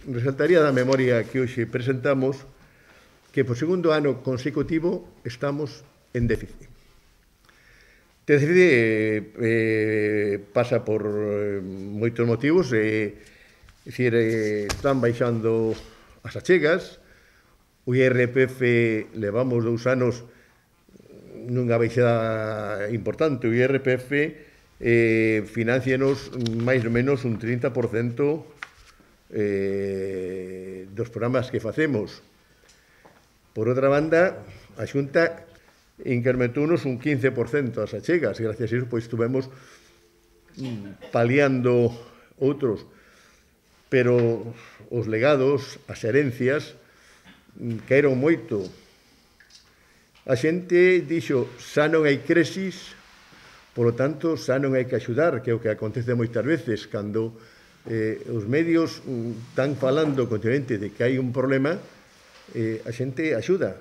resaltaría da memoria que hoxe presentamos que por segundo ano consecutivo estamos en déficit. Déficit pasa por moitos motivos, están baixando as achegas, o IRPF levamos 2 anos nunha baixada importante, o IRPF financianos máis ou menos un 30% dos programas que facemos. Por outra banda, a Xunta incrementounos un 15% as achegas, e gracias a iso pois estuvemos paliando outros, pero os legados, as herencias, caeron moito. A xente dixo, xa non hai crisis, polo tanto, xa non hai que axudar, que é o que acontece moitas veces, cando os medios están falando continuamente de que hai un problema, a xente axuda,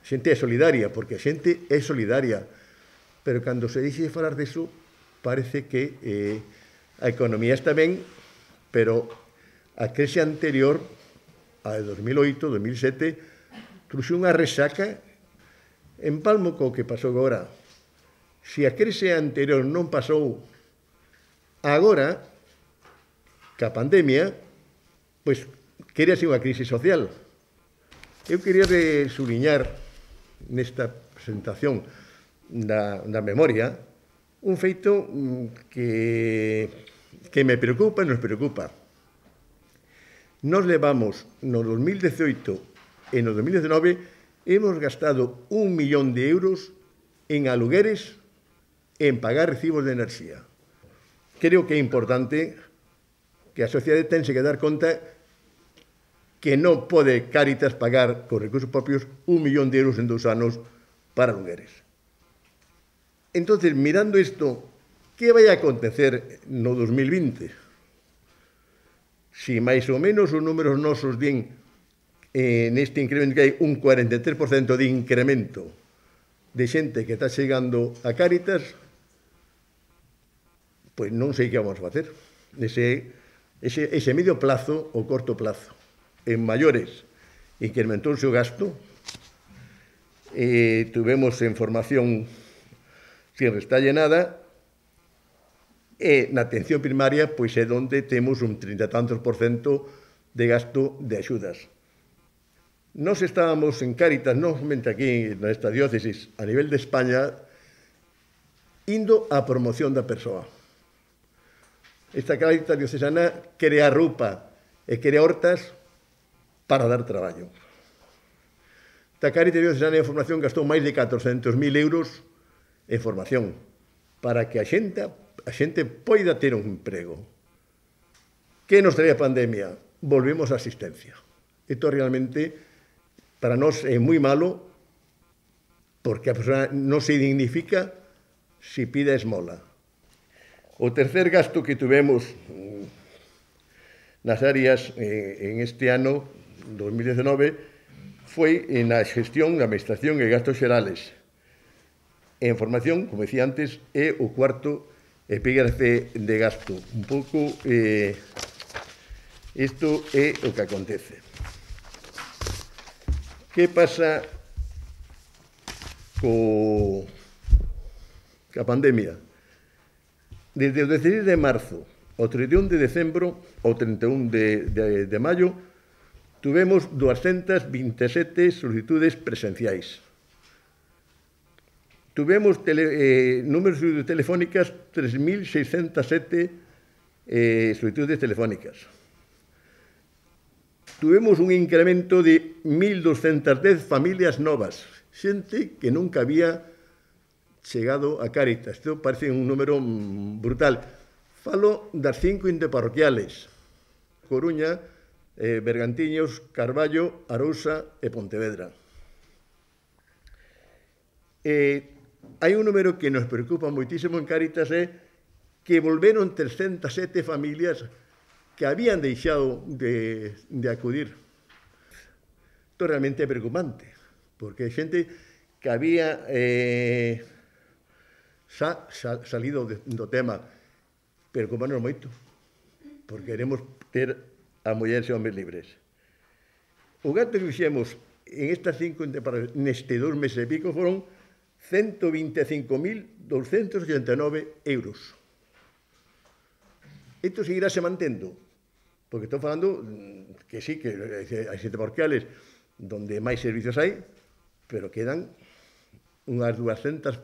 a xente é solidaria, porque a xente é solidaria, pero cando se dixe de falar disso, parece que a economía está ben, pero a crise anterior, a de 2008, 2007, trouxe unha resaca en palmo co que pasou agora. Se a crise anterior non pasou agora, ca pandemia, pois quería ser unha crise social. Eu quería subliñar nesta presentación da memoria un feito que me preocupa e nos preocupa. Nos levamos no 2018 e no 2019 hemos gastado 1 millón de euros en alugueres e en pagar recibos de enerxía. Creo que é importante que a sociedade tense que dar conta que non pode Cáritas pagar con recursos propios 1 millón de euros en 2 anos para alugueres. Entonces, mirando isto, que vai a acontecer no 2020? Si máis ou menos os números nosos din neste incremento que hai un 43% de incremento de xente que está chegando a Cáritas, pois non sei que vamos a facer. Ese medio plazo ou corto plazo. En maiores incrementouse o gasto, tuvemos en formación sin restalle nada, e na atención primaria pois é onde temos un 30 e tantos % de gasto de axudas. Nós estábamos en Cáritas, non somente aquí nesta diócesis, a nivel de España, indo á promoción da persoa. Esta Cáritas diocesana crea roupa e crea hortas para dar traballo. Esta Cáritas diocesana en formación gastou máis de 400.000 euros en formación para que a xente poida ter un emprego. Que nos traía a pandemia? Volvemos á asistencia. Isto realmente para nós é moi malo porque a persoa non se dignifica se pide esmola. O tercer gasto que tuvemos nas áreas en este ano 2019 foi na xestión, na administración e gastos xerales. En formación, como decía antes, é o cuarto epígrafe de gasto. Un pouco isto é o que acontece. Que pasa coa pandemia? Desde o 16 de marzo ao 31 de decembro ao 31 de maio tuvemos 227 solicitudes presenciais. Tuvemos números de telefónicas 3.607 solicitudes telefónicas. Tuvemos un incremento de 1.210 familias novas, xente que nunca había chegado a Cáritas. Isto parece un número brutal. Falo das 5 interparroquiales: Coruña, Bergantiños, Carballo, Arousa e Pontevedra. Hai un número que nos preocupa moitísimo en Cáritas, é que volveron 307 familias que habían deixado de acudir. Isto realmente é preocupante, porque hai xente que había salido do tema. Preocupanos moito, porque queremos ter a mulleres e homens libres. O gasto que fixemos en estas 5 interpretaciones neste 2 meses e pico foron 125.289 euros. Isto seguirase mantendo, porque estou falando que sí, que hai 7 parroquiales donde máis servicios hai, pero quedan unhas 200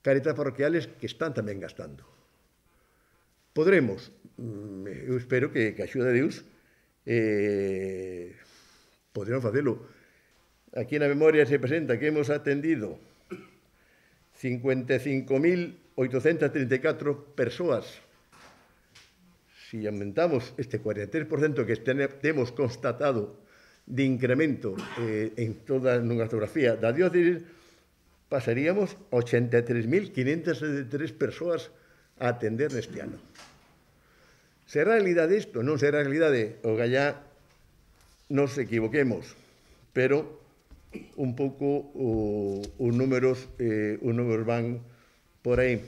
caritas parroquiales que están tamén gastando. Podremos, eu espero que a axuda de Deus, podremos facelo. Aquí na memoria se presenta que hemos atendido 55.834 persoas. Si aumentamos este 43% que temos constatado de incremento en toda a geografía da diócesis, pasaríamos 83.573 persoas a atender neste ano. Será realidade isto? Non será realidade? O gallá nos equivoquemos, pero un pouco os números van por aí.